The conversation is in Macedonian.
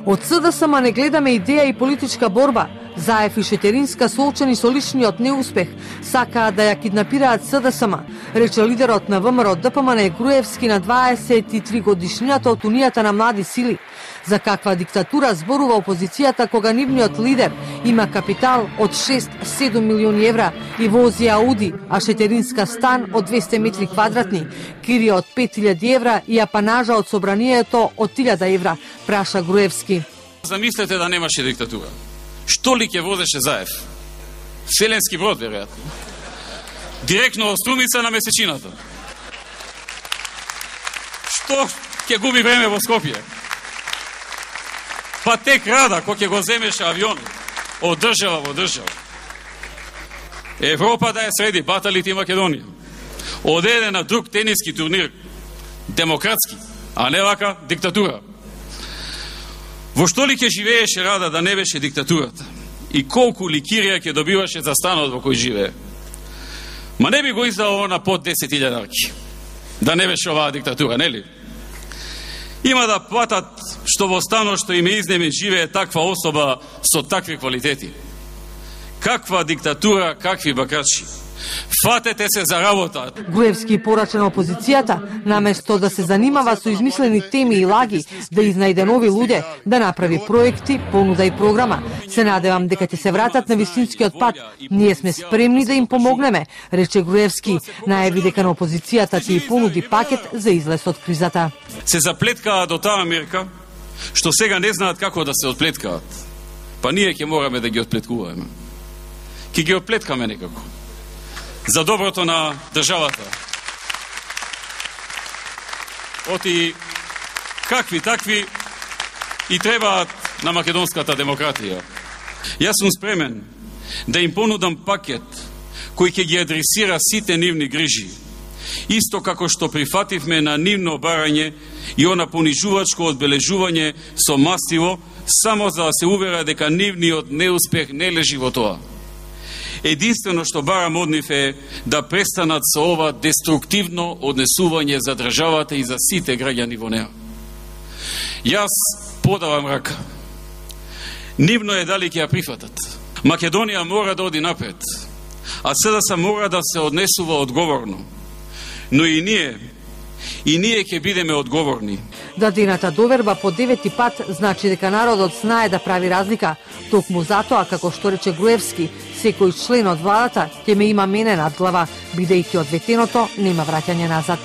Од СДСМ не гледаме идеја и политичка борба. Заев и Шетеринска соочени со личниот неуспех сакаат да ја киднапираат СДСМ, рече лидерот на ВМРО ДПМН Груевски на 23 годишнината од Унијата на млади сили. За каква диктатура зборува опозицијата кога нивниот лидер има капитал од 6-7 милиони евра и вози Ауди, а Шетеринска стан од 200 метри квадратни, кирија од 5000 евра и апанажа од собранието од 1000 евра, праша Груевски. Замислете да немаше диктатура. Што ли ќе возеше Заев? Вселенски брод, веројатно. Директно од Струмица на месечината. Што ќе губи време во Скопје? Па тек рада, кој ќе го земеше авион од држава во држава. Европа да ја среди, баталите и Македонија. Од на друг тениски турнир, демократски, а не вака диктатура. Во што ли ќе живееше Рада да не беше диктатурата? И колку ли кирија ќе добиваше за станот во кој живее? Ма не би го издало на под 10.000 арки. Да не беше оваа диктатура, нели? Има да платат што во станот што им изнеме живее таква особа со такви квалитети. Каква диктатура, какви бакачи. Фатете се за работа. Груевски порача на опозицијата, наместо да се занимава со измислени теми и лаги, да изнајде нови луѓе, да направи проекти, понуда и програма. Се надевам дека ќе се вратат на вистинскиот пат. Ние сме спремни да им помогнеме, рече Груевски. Најави дека на опозицијата ќе и понуди пакет за излез од кризата. Се заплеткаа до таа мерка, што сега не знаат како да се отплеткаат. Па ние ќе мораме да ги отплеткуваме. Ќе ги отплеткаме некако. За доброто на државата. Оти какви такви и требаат на македонската демократија. Јас сум спремен да им понудам пакет кој ќе ги адресира сите нивни грижи. Исто како што прифативме на нивно барање и она понижувачко одбележување со мастиво, само за да се увера дека нивниот неуспех не лежи во тоа. Единствено што барам од нив е да престанат со ова деструктивно однесување за државата и за сите граѓани во неа. Јас подавам рака. Нивно е дали ќе ја прифатат. Македонија мора да оди напред, а СДС мора да се однесува одговорно. Но и ние ќе бидеме одговорни. Дадената доверба по 9-ти пат значи дека народот знае да прави разлика. Токму затоа, како што рече Груевски, секој член од владата ќе ме има мене над глава, бидејќи од ветеното нема враќање назад.